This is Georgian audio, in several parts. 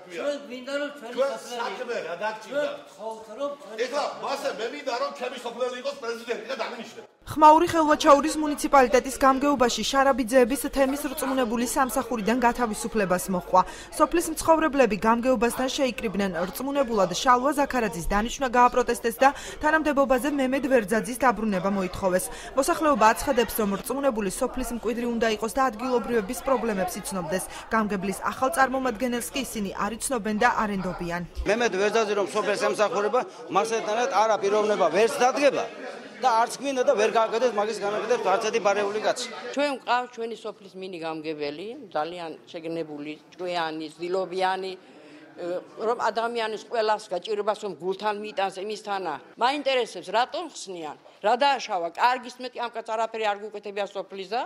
თქვია. ჩვენ გვინდა რომ ჩვენი საქმე რა დაგჭირდა. ეხლა მასე მე მინდა რომ ჩემი სოფლელი იყოს პრეზიდენტი და დამინიშნე. ხმაური ხელვაჩაურის მუნიციპალიტეტის გამგეობაში შარაბიძეების თემის რწმუნებული სამსახურიდან გათავისუფლებას მოჰყვა. სოფლის მცხოვრებლები გამგეობასთან შეიკრიბნენ რწმუნებულად შალვა ზაქარაძის დანიშვნა გააპროტესტეს და თანამდებობაზე მემედ ვერძაძის დაბრუნება მოითხოვეს. მოსახლეობა აცხადებს, რომ რწმუნებული სოფლის მკვიდრი უნდა იყოს და ადგილობრივების პრობლემებს იცნობდეს. გამგებლის ახალ წარმომადგენელს კი ისინი არ იცნობენ და არ ენდობიან. მემედ ვერძაძე რომ სოფელს ემსახურება, მასეთანაც არა პიროვნება ვერც დადგება. და არც გვინდა და ვერ გააკეთებს მაგის განაკეთებს არც ერთი ბარეული კაცი. ჩვენ ვყავთ ჩვენი სოფლის მინი გამგებელი, ძალიან შეგნებული, ჭკვიანი, ძილობიანი, რომ ადამიანის ყველას გაჭირებას რომ გულთან მიიტანს იმისთანა. მაინტერესებს რატომ ხსნიან? რა დააშავა? კარგის მეტი ამ კაც არაფერი არ გუკეთებია სოფლისა.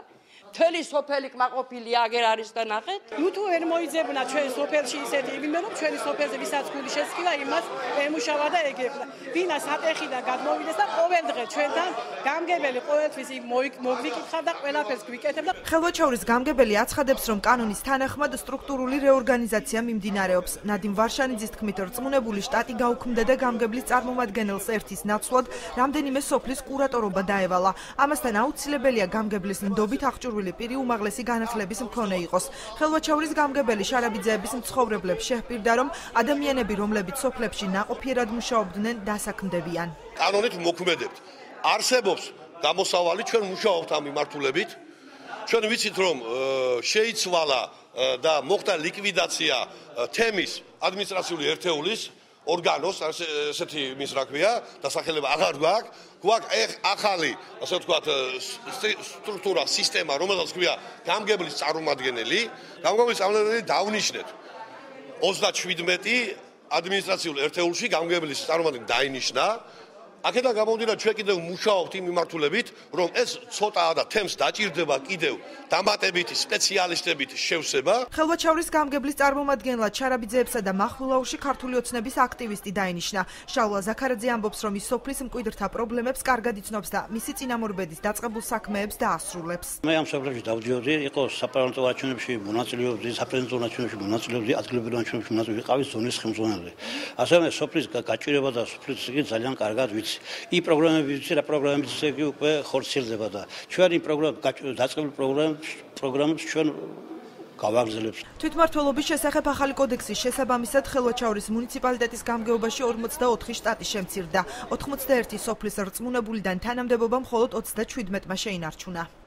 მთელი სოფელი კმაყოფილი აგერ არის და ნახეთ. ნუ ვერ მოიძებნა ჩვენ სოფელში ისეთი იმე რომ ჩვენი სოფელზე ვისაც გული შესკილა იმას ემუშავა და ეგებდა. ვინას ატეხიდან გადმოვიდეს და ყოველ დღე ჩვენთან გამგებელი ყოველთვის მოგვიკითხავ და ყველაფერს გვიკეთებდა. ხელვაჩაურის გამგებელი აცხადებს, რომ კანონის თანახმად სტრუქტურული რეორგანიზაცია მიმდინარეობს. ნადიმ ვარშანიძის თქმით, რწმუნებული შტატი გაუქმდა და გამგებლის წარმომადგენელს ერთის ნაცვლად რამდენიმე სოფლის კურატორობა დაევალა. ამასთან აუცილებელია გამგებლის ნდობით აღჭურვილი პირი უმაღლესი განათლების მქონე იყოს. ხელვაჩაურის გამგებელი შარაბიძეების მცხოვრებლებს შეჰპირდა, რომ ადამიანები, რომლებიც სოფლებში ნაყოფიერად მუშაობდნენ, დასაქმდებიან. კანონით მოქმედებთ. არსებობს გამოსავალი, ჩვენ მუშაობთ ამ მიმართულებით. ჩვენ ვიცით, რომ შეიცვალა და მოხდა ლიკვიდაცია თემის ადმინისტრაციული ერთეულის ორგანოს, ესეთი მის რა ქვია, დასახელება აღარ გვაქვს. გვაქვს ახალი, ასე ვთქვათ, სტრუქტურა, სისტემა, რომელსაც ქვია გამგებლის წარმომადგენელი. გამგებლის წარმომადგენელი დავნიშნეთ 37 ადმინისტრაციულ ერთეულში გამგებლის წარმომადგენელი დაინიშნა. აქედან გამომდინარე, ჩვენ კიდევ მუშაობთ იმ მიმართულებით, რომ ეს ცოტაა და თემს დაჭირდება კიდევ დამატებითი სპეციალისტებით შევსება. ხელვაჩაურის გამგებლის წარმომადგენლად შარაბიძეებსა და მახვილაურში ქართული ოცნების აქტივისტი დაინიშნა. შალვა ზაქარაძე ამბობს, რომ ის სოფლის მკვიდრთა პრობლემებს კარგად იცნობს და მისი წინამორბედის დაწყებულ საქმეებს დაასრულებს. მე ამ სოფლებში დავდიოდი, იყო საპარლამენტო არჩევნებში მონაწილეობდი, საპრეზიდენტო არჩევნებში მონაწილეობდი, ადგილობრივ არჩევნებში მონაწილეობდი, ვიყავი ზონის ხელმძღვანელი. ასევე სოფლის გაჭირება და სოფლის იგი ძალიან კარგად ვიცი. იმ პროგრამები რა პროგრამებიც იგი უკვე ხორციელდება და ჩვენ იმ დაწყებულ პროგრამებს ჩვენ გავაგრძელებთ. თვითმმართველობის შესახებ ახალი კოდექსის შესაბამისად ხელვაჩაურის მუნიციპალიტეტის გამგეობაში 44 შტატი შემცირდა. 81 სოფლის რწმუნებულიდან თანამდებობა მხოლოდ 37-მა შეინარჩუნა.